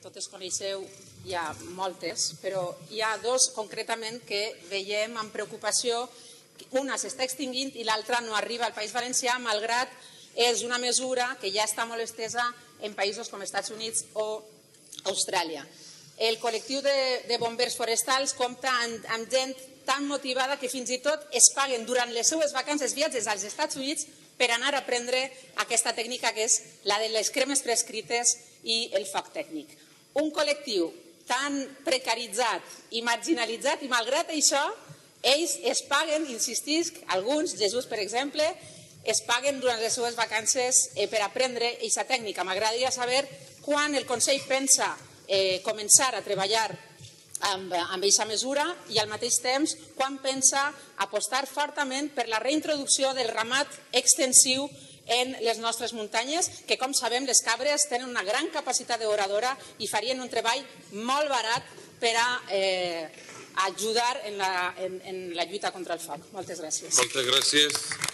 totes coneixeu, hi ha moltes, però hi ha dos concretament que veiem amb preocupació. Una s'està extingint i l'altra no arriba al País Valencià, malgrat és una mesura que ja està molt estesa en països com els Estats Units o Austràlia. El col·lectiu de bombers forestals compta amb gent tan motivada que fins i tot es paguen durant les seues vacances viatges als Estats Units per anar a aprendre aquesta tècnica que és la de les cremes prescrites i el foc tècnic. Un col·lectiu tan precaritzat i marginalitzat i malgrat això ells es paguen, insistisc, alguns, Jesús per exemple, es paguen durant les seues vacances per aprendre aquesta tècnica. M'agradaria saber quan el Consell pensa començar a treballar amb aquesta mesura i al mateix temps quan pensa apostar fortament per la reintroducció del ramat extensiu en les nostres muntanyes, que com sabem les cabres tenen una gran capacitat devoradora i farien un treball molt barat per a ajudar en la lluita contra el foc. Moltes gràcies. Moltes gràcies.